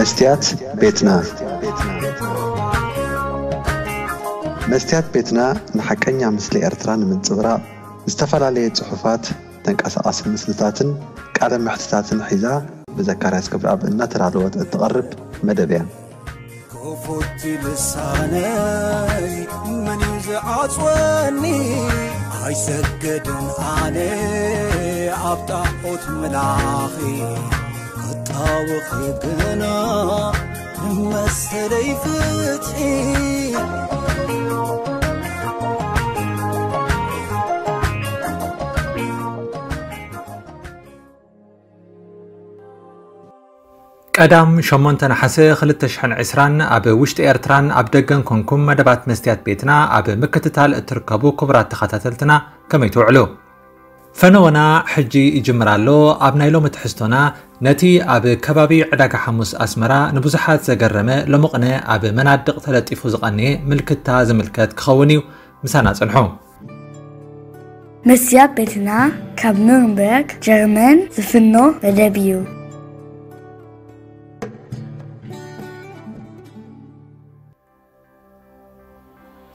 መስትያት ቤትና። መስትያት ቤትና ንሓቀኛ ምስሊ ኤርትራ ንምንጽብራቕ ዝተፈላለየ ጽሑፋት፣ ተንቀሳቓሲ ምስልታትን ቃለ መሕትታትን ሒዛ ብዘካርያስ ክብረኣብ እናተዳለወት እትቐርብ መደብ እያ። ክፉት ልሳነይ መን እዩ ዝዓጽወኒ? ኣይሰግድን ኣነ ኣብ ጣዖት ምላኺ፣ ክጣወኺ ግና ንመሰለይ ፍትሒ። ቀዳም ሸሞንተ ነሓሰ ክልተ ሽሕን ዕስራን ኣብ ውሽጢ ኤርትራን ኣብ ደገን ኮንኩም መደባት መስትያት ቤትና ኣብ ምክትታል እትርከቡ ክቡራት ተኸታተልትና፣ ከመይ ትውዕሉ? ፈነወና ሕጂ ይጅምር ኣሎ። ኣብ ናይ ሎሚ ትሕዝቶና፣ ነቲ ኣብ ከባቢ ዕዳጋ ሓሙስ ኣስመራ ንብዙሓት ዘገረመ፣ ሎሚ ቅነ ኣብ መናድቕ ተለጢፉ ዝቐነየ ምልክታ ዝምልከት ክኸውን እዩ። ምሳና ጽንሑ። መስትያት ቤትና ካብ ኑርንበርግ ጀርመን ዝፍኖ መደብ እዩ።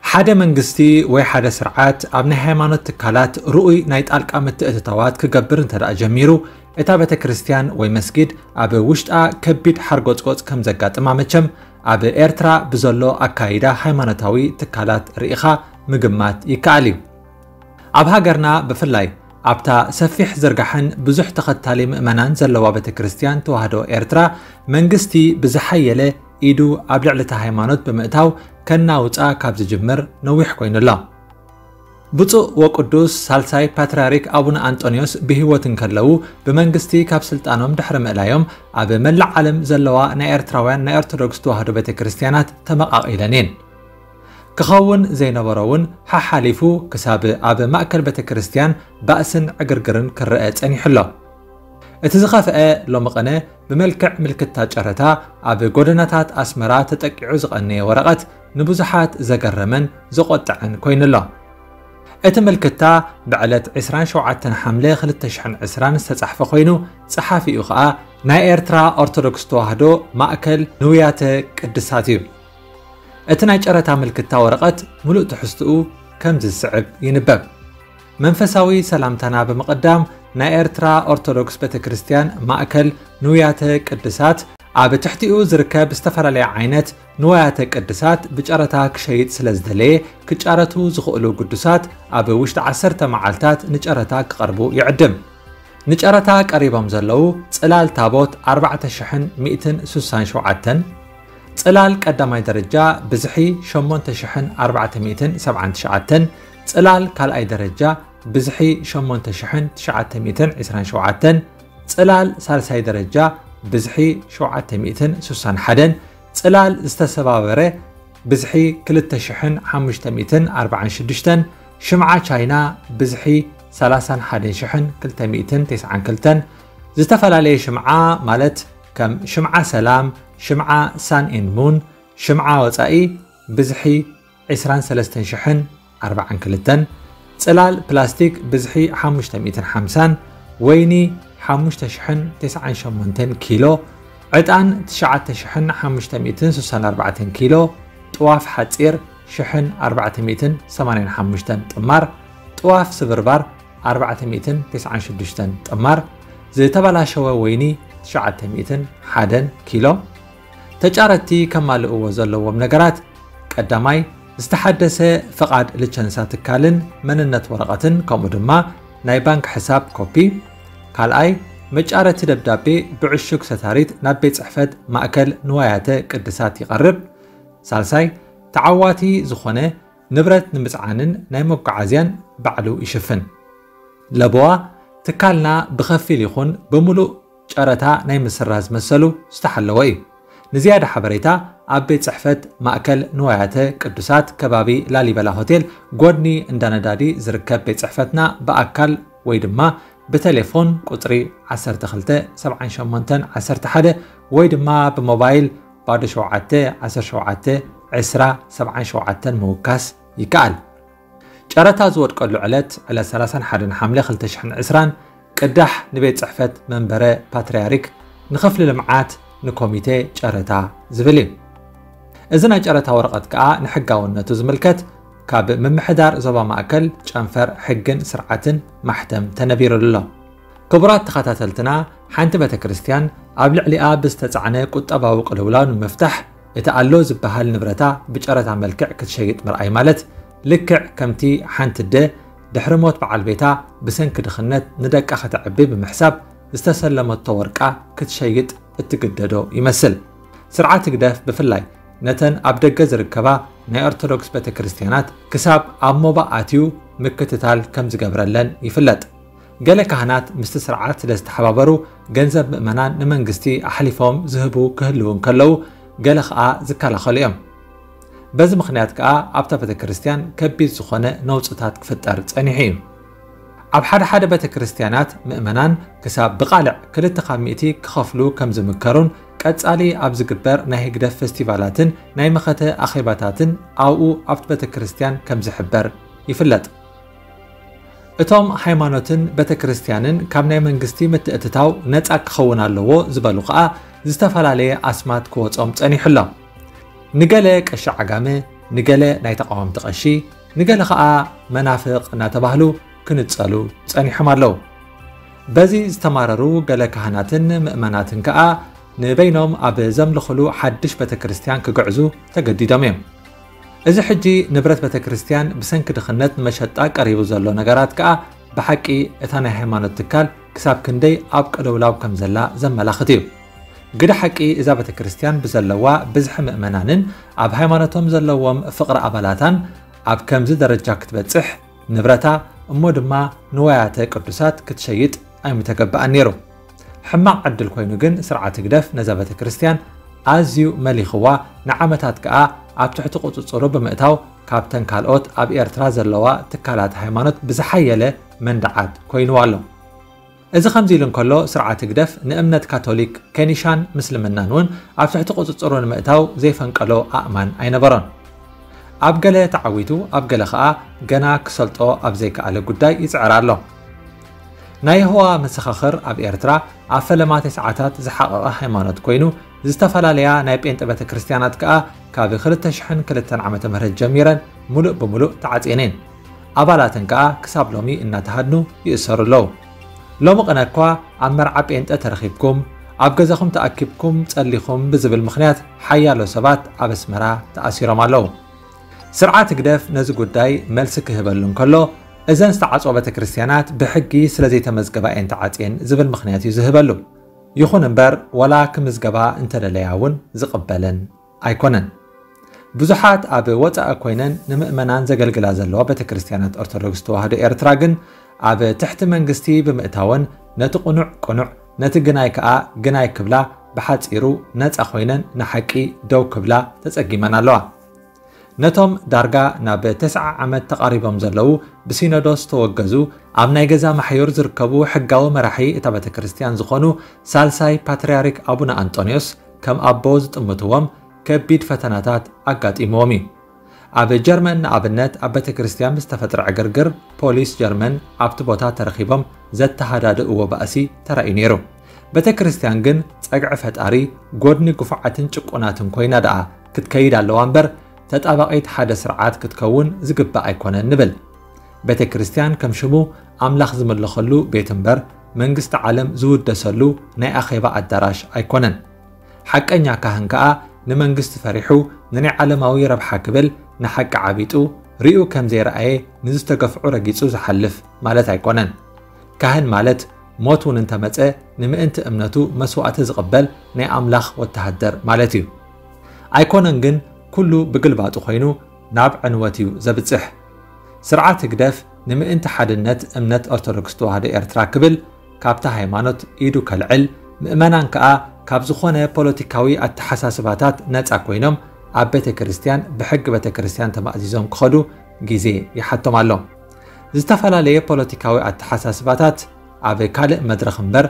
ሓደ መንግስቲ ወይ ሓደ ስርዓት ኣብ ናይ ሃይማኖት ትካላት ርኡይ ናይ ጣልቃ ምትእትታዋት ክገብር እንተ ደኣ ጀሚሩ፣ እታ ቤተ ክርስቲያን ወይ መስጊድ ኣብ ውሽጣ ከቢድ ሓርጎጽጎጽ ከም ዘጋጥማ መቸም ኣብ ኤርትራ ብዘሎ ኣካይዳ ሃይማኖታዊ ትካላት ርኢኻ ምግማት ይከኣል እዩ። ኣብ ሃገርና ብፍላይ ኣብታ ሰፊሕ ዝርጋሐን ብዙሕ ተኸታሊ ምእመናን ዘለዋ ቤተ ክርስቲያን ተዋህዶ ኤርትራ፣ መንግስቲ ብዝሓየለ ኢዱ ኣብ ልዕሊ እታ ሃይማኖት ብምእታው ከናውጻ ካብ ዝጅምር ነዊሕ ኮይኑ ኣሎ። ብፁዕ ወቅዱስ ሳልሳይ ፓትርያርክ ኣቡነ ኣንጦንዮስ ብህይወት እንከለዉ፣ ብመንግስቲ ካብ ስልጣኖም ድሕሪ ምእላዮም፣ ኣብ መላእ ዓለም ዘለዋ ናይ ኤርትራውያን ናይ ኦርቶዶክስ ተዋህዶ ቤተ ክርስቲያናት ተመቓቒለን እየን። ክኸውን ዘይነበሮ እውን ሓሓሊፉ ክሳብ ኣብ ማእከል ቤተ ክርስቲያን ባእስን ዕግርግርን ክረአ ጸኒሑ ኣሎ። እቲ ዝኸፍአ ሎሚ ቅነ ብመልክዕ ምልክታ ጨረታ ኣብ ጎደናታት ኣስመራ ተጠቂዑ ዝቐነየ ወረቐት ንብዙሓት ዘገረመን ዘቖጠዐን ኮይኑ ኣሎ። እቲ ምልክታ ብዕለት ዕስራን ሸውዓተን ሓምለ ክልተ ሽሕን ዕስራን ዝተጻሕፈ ኮይኑ፣ ጸሓፊኡ ኸኣ ናይ ኤርትራ ኦርቶዶክስ ተዋህዶ ማእከል ንውያተ ቅድሳት እዩ። እቲ ናይ ጨረታ ምልክታ ወረቐት ምሉእ ትሕዝትኡ ከምዚ ዝስዕብ ይንበብ። መንፈሳዊ ሰላምታና ብምቕዳም፣ ናይ ኤርትራ ኦርቶዶክስ ቤተ ክርስቲያን ማእከል ንውያተ ቅድሳት ኣብ ትሕቲኡ ዝርከብ ዝተፈላለየ ዓይነት ንዋያተ ቅድሳት ብጨረታ ክሸይጥ ስለ ዝደለየ፣ ክጫረቱ ዝኽእሉ ግዱሳት ኣብ ውሽጢ ዓሰርተ መዓልታት ንጨረታ ክቐርቡ ይዕድም። ንጨረታ ቀሪቦም ዘለዉ ጽላል ታቦት ኣርባዕተ ሽሕን ሚእትን ስሳን ሸውዓተን፣ ጽላል ቀዳማይ ደረጃ ብዝሒ ሸሞንተ ሽሕን ኣርባዕተ ሚእትን ሰብዓን ትሽዓተን፣ ጽላል ካልኣይ ደረጃ ብዝሒ ሸሞንተ ሽሕን ትሽዓተ ሚእትን ዕስራን ሸውዓተን፣ ጽላል ሳልሳይ ደረጃ ብዝሒ ሸውዓተ ሚእትን ስሳን ሓደን፣ ጽላል ዝተሰባበረ ብዝሒ ክልተ ሽሕን ሓሙሽተ ሚእትን ኣርባዓን ሽዱሽተን፣ ሽምዓ ቻይና ብዝሒ ሰላሳን ሓደን ሽሕን ክልተ ሚእትን ተስዓን ክልተን፣ ዝተፈላለየ ሽምዓ ማለት ከም ሽምዓ ሰላም፣ ሽምዓ ሳን ኤንድ ሙን፣ ሽምዓ ወጻኢ ብዝሒ ዕስራን ሰለስተን ሽሕን ኣርባዓን ክልተን፣ ጽላል ፕላስቲክ ብዝሒ ሓሙሽተ ሚእትን ሓምሳን፣ ወይኒ ሓሙሽተ ሽሕን ተስዓን ሸሞንተን ኪሎ፣ ዕጣን ትሽዓተ ሽሕን ሓሙሽተ ሚእትን ስሳን ኣርባዕተን ኪሎ፣ ጥዋፍ ሓጺር ሽሕን ኣርባዕተ ሚእትን ሰማንያን ሓሙሽተን ጥማር፣ ጥዋፍ ስብርባር ኣርባዕተ ሚእትን ተስዓን ሽዱሽተን ጥማር፣ ዝተበላሸወ ወይኒ ትሽዓተ ሚእትን ሓደን ኪሎ። ተጫረቲ ከማልእዎ ዘለዎም ነገራት፣ ቀዳማይ፣ ዝተሓደሰ ፍቓድ ልቸንሳ ትካልን መንነት ወረቐትን፣ ከምኡ ድማ ናይ ባንክ ሕሳብ ኮፒ። ካልኣይ፣ መጫረቲ ደብዳቤ ብዕሹግ ሰታሪት ናብ ቤት ጽሕፈት ማእከል ንዋያተ ቅድሳት ይቐርብ። ሳልሳይ፣ ተዓዋቲ ዝኾነ ንብረት ንምጽዓንን ናይ መጓዓዝያን ባዕሉ ይሽፍን። ለበዋ፣ ትካልና ብኸፊል ይኹን ብምሉእ ጨረታ ናይ ምስራዝ መሰሉ ዝተሓለወ እዩ። ንዝያዳ ሓበሬታ፣ ኣብ ቤት ጽሕፈት ማእከል ንዋያተ ቅዱሳት ከባቢ ላሊበላ ሆቴል ጎድኒ እንዳ ነዳዲ ዝርከብ ቤት ጽሕፈትና ብኣካል ወይ ድማ ብቴሌፎን ቁጽሪ ዓሰርተ ክልተ ሰብዓን ሸሞንተን ዓሰርተ ሓደ ወይ ድማ ብሞባይል ባዶ ሸውዓተ ዓሰርተ ሸውዓተ ዕስራ ሰብዓን ሸውዓተን ምውካስ ይከኣል። ጨረታ ዝወድቀሉ ዕለት፣ ዕለት ሰላሳን ሓደን ሓምለ ክልተ ሽሕን ዕስራን፣ ቅዳሕ ንቤት ጽሕፈት መንበረ ፓትርያርክ፣ ንክፍሊ ልምዓት፣ ንኮሚቴ ጨረታ ዝብል እዩ። እዚ ናይ ጨረታ ወረቐት ከኣ ንሕጋውነቱ ዝምልከት ካብ ምምሕዳር ዞባ ማእከል ጨንፈር ሕግን ስርዓትን ማሕተም ተነቢሩሉ ኣሎ። ክቡራት ተኸታተልትና፣ ሓንቲ ቤተ ክርስቲያን ኣብ ልዕሊኣ ብዝተጻዕነ ቁጠባዊ ቅልውላው ንምፍታሕ እቲ ኣሎ ዝበሃል ንብረታ ብጨረታ መልክዕ ክትሸይጥ ምርኣይ ማለት፣ ልክዕ ከምቲ ሓንቲ ኣደ ድሕሪ ሞት በዓል ቤታ ብሰንኪ ድኽነት ንደቃ ከተዕቢ ብምሕሳብ ዝተሰለመቶ ወርቃ ክትሸይጥ እትግደዶ ይመስል። ስርዓት ህግደፍ ብፍላይ ነተን ኣብ ደገ ዝርከባ ናይ ኦርቶዶክስ ቤተ ክርስቲያናት ክሳብ ኣብ ሞባእ ኣትዩ ምክትታል ከም ዝገብረለን ይፍለጥ። ገለ ካህናት ምስቲ ስርዓት ስለ ዝተሓባበሩ ገንዘብ ምእመናን ንመንግስቲ ኣሕሊፎም ዝህቡ ክህልዉ እንከለዉ፣ ገለ ኸኣ ዝከላኸሉ እዮም። በዚ ምኽንያት ከኣ ኣብታ ቤተ ክርስቲያን ከቢድ ዝኾነ ነውጽታት ክፍጠር ጸኒሑ እዩ። ኣብ ሓደ ሓደ ቤተ ክርስቲያናት ምእመናን ክሳብ ብቓልዕ ክልተ ካብ ሚእቲ ክኸፍሉ ከም ዝምከሩን ቀጻሊ ኣብ ዝግበር ናይ ህግደፍ ፌስቲቫላትን ናይ መኸተ ኣኼባታትን ኣብኡ ኣብቲ ቤተ ክርስቲያን ከም ዝሕበር ይፍለጥ። እቶም ሃይማኖትን ቤተ ክርስቲያንን ካብ ናይ መንግስቲ ምትእትታው ነጻ ክኸውን ኣለዎ ዝበሉ ከኣ ዝተፈላለየ ኣስማት ክወጾም ጸኒሑ ኣሎ። ንገለ ቀሺ ዓጋመ፣ ንገለ ናይ ተቓወምቲ ቀሺ፣ ንገለ ከኣ መናፍቕ እናተባህሉ ክንጸሉ ጸኒሖም ኣለዉ። በዚ ዝተማረሩ ገለ ካህናትን ምእመናትን ከኣ ንበይኖም ኣብ ዘምልኹሉ ሓድሽ ቤተ ክርስቲያን ክግዕዙ ተገዲዶም እዮም። እዚ ሕጂ ንብረት ቤተ ክርስቲያን ብሰንኪ ድኽነት ንመሸጣ ቀሪቡ ዘሎ ነገራት ከኣ ብሓቂ እታ ናይ ሃይማኖት ትካል ክሳብ ክንደይ ኣብ ቅልውላው ከም ዘላ ዘመላኽት እዩ። ግደ ሓቂ እዛ ቤተ ክርስቲያን ብዘለዋ ብዝሒ ምእመናንን ኣብ ሃይማኖቶም ዘለዎም ፍቕሪ ኣባላታን ኣብ ከምዚ ደረጃ ክትበጽሕ ንብረታ እሞ ድማ ንዋያተ ቅዱሳት ክትሸይጥ ኣይምተገበኣን ነይሩ። ሕማቕ ዕድል ኮይኑ ግን ስርዓት ህግደፍ ነዛ ቤተ ክርስቲያን ኣዝዩ መሊኽዋ፣ ንዓመታት ከኣ ኣብ ትሕቲ ቁጽጽሩ ብምእታው ካብተን ካልኦት ኣብ ኤርትራ ዘለዋ ትካላት ሃይማኖት ብዝሓየለ መንደዓት ኮይንዋ ኣሎ። እዚ ከምዚ ኢሉ እንከሎ ስርዓት ህግደፍ ንእምነት ካቶሊክ፣ ከኒሻን ምስልምናን እውን ኣብ ትሕቲ ቁጽጽሩ ንምእታው ዘይፈንቀሎ ኣእማን ኣይነበሮን። ኣብ ገለ ተዓዊቱ ኣብ ገለ ኸኣ ገና ክሰልጦ ኣብ ዘይከኣለ ጉዳይ ይጽዕር ኣሎ። ናይ የሆዋ መሰኻኽር ኣብ ኤርትራ ኣብ ፈለማ ተስዓታት ዝሓቐቐ ሃይማኖት ኮይኑ፣ ዝተፈላለያ ናይ ጴንጠ ቤተ ክርስቲያናት ከኣ ካብ ክልተ ሽሕን ክልተን ዓመተ ምህረት ጀሚረን ሙሉእ ብሙሉእ ተዓጽየን እየን። ኣባላተን ከኣ ክሳብ ሎሚ እናተሃድኑ ይእሰሩ ኣለዉ። ሎሚ ቅነ እኳ ኣብ መርዓ ጴንጠ ተረኺብኩም ኣብ ገዛኹም ተኣኪብኩም ጸሊኹም ብዝብል ምኽንያት ሓያሎ ሰባት ኣብ ኣስመራ ተኣሲሮም ኣለዉ። ስርዓት ህግደፍ ነዚ ጉዳይ መልሲ ክህበሉ እንከሎ፣ እዘን ዝተዓጽዋ ቤተ ክርስቲያናት ብሕጊ ስለ ዘይተመዝገባ እየን ተዓጽየን ዝብል ምኽንያት እዩ ዝህበሉ። ይኹን እምበር ዋላ ክምዝገባ እንተደለያ እውን ዝቕበለን ኣይኮነን። ብዙሓት ኣብ ወጻኢ ኮይነን ንምእመናን ዘገልግላ ዘለዋ ቤተ ክርስቲያናት ኦርቶዶክስ ተዋህዶ ኤርትራ ግን ኣብ ትሕቲ መንግስቲ ብምእታወን ነቲ ቅኑዕ ቅኑዕ ነቲ ግናይ ከኣ ግናይ ክብላ ብሓጺሩ ነጻ ኮይነን ንሓቂ ደው ክብላ ተጸጊመን ኣለዋ። ነቶም ዳርጋ ናብ ተስዓ ዓመት ተቓሪቦም ዘለዉ ብሲኖዶስ ተወገዙ ኣብ ናይ ገዛ ማሕዩር ዝርከቡ ሕጋዊ መራሒ እታ ቤተ ክርስቲያን ዝኾኑ ሳልሳይ ፓትርያርክ ኣቡነ ኣንጦንዮስ ከም ኣቦ ዝጥምትዎም ከቢድ ፈተናታት ኣጋጢምዎም እዩ። ኣብ ጀርመን ንኣብነት ኣብ ቤተ ክርስቲያን ብዝተፈጥረ ዕግርግር ፖሊስ ጀርመን ኣብቲ ቦታ ተረኺቦም ዘተሃዳድእዎ ባእሲ ተራእዩ ነይሩ። ቤተ ክርስቲያን ግን ጸግዒ ፈጣሪ ጎድኒ ግፉዓትን ጭቁናትን ኮይና ደኣ ክትከይድ ኣለዋ እምበር ተጣባቒት ሓደ ስርዓት ክትከውን ዝግባእ ኣይኮነን ንብል። ቤተ ክርስቲያን ከም ሽሙ ኣምላኽ ዝምለኸሉ ቤት እምበር መንግስቲ ዓለም ዝውደሰሉ ናይ ኣኼባ ኣዳራሽ ኣይኮነን። ሓቀኛ ካህን ከኣ ንመንግስቲ ፈሪሑ ንናይ ዓለማዊ ረብሓ ክብል ንሓቂ ዓቢጡ ሪኡ ከም ዘይረኣየ ንዝተገፍዑ ረጊጹ ዝሓልፍ ማለት ኣይኮነን። ካህን ማለት ሞት እውን እንተመጸ ንምእንቲ እምነቱ መስዋእቲ ዝቕበል ናይ ኣምላኽ ወተሃደር ማለት እዩ። ኣይኮነን ግን ኩሉ ብግልባጡ ኮይኑ ናብ ዕንወት እዩ ዘብጽሕ። ስርዓት ህግደፍ ንምእንቲ ሓድነት እምነት ኦርቶዶክስ ተዋህዶ ኤርትራ ክብል ካብታ ሃይማኖት ኢዱ ከልዕል፣ ምእመናን ከኣ ካብ ዝኾነ ፖለቲካዊ ኣተሓሳስባታት ነጻ ኮይኖም ኣብ ቤተ ክርስቲያን ብሕጊ ቤተ ክርስቲያን ተማእዚዞም ክኸዱ ግዜ ይሓቶም ኣሎ። ዝተፈላለየ ፖለቲካዊ ኣተሓሳስባታት ኣብ ካልእ መድረኽ እምበር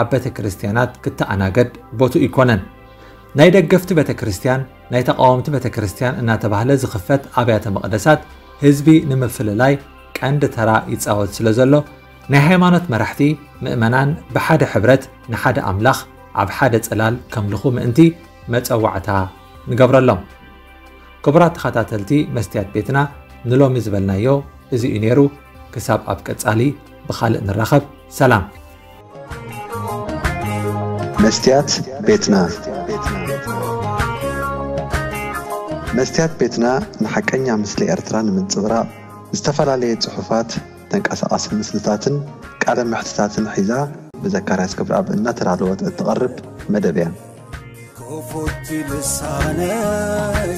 ኣብ ቤተ ክርስቲያናት ክተኣናገድ ቦትኡ ኣይኮነን። ናይ ደገፍቲ ቤተ ክርስቲያን፣ ናይ ተቓወምቲ ቤተ ክርስቲያን እናተባህለ ዝኽፈት ኣብያተ መቕደሳት ህዝቢ ንምፍልላይ ቀንዲ ተራ ይጻወት ስለ ዘሎ ናይ ሃይማኖት መራሕቲ ምእመናን ብሓደ ሕብረት ንሓደ ኣምላኽ ኣብ ሓደ ጽላል ከምልኹ ምእንቲ መጸዋዕታ ንገብረሎም። ክቡራት ተኸታተልቲ መስትያት ቤትና፣ ንሎሚ ዝበልናዮ እዚ እዩ ነይሩ። ክሳብ ኣብ ቀጻሊ ብኻልእ ንራኸብ። ሰላም። መስትያት ቤትና። መስትያት ቤትና ንሓቀኛ ምስሊ ኤርትራ ንምንጽብራቕ ዝተፈላለየ ጽሑፋት፣ ተንቀሳቓሲ ምስልታትን ቃለ መሕትታትን ሒዛ ብዘካርያስ ክብረኣብ እናተዳለወት እትቐርብ መደብ እያ። ክፉት ልሳነይ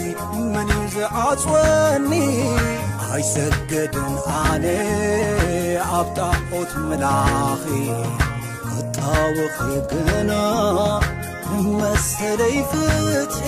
መን እዩ ዝዓጽወኒ? ኣይሰገድን ኣነ ኣብ ጣዖት ምላኺ ክጣወኺ ግና መሰለይ ፍትሒ።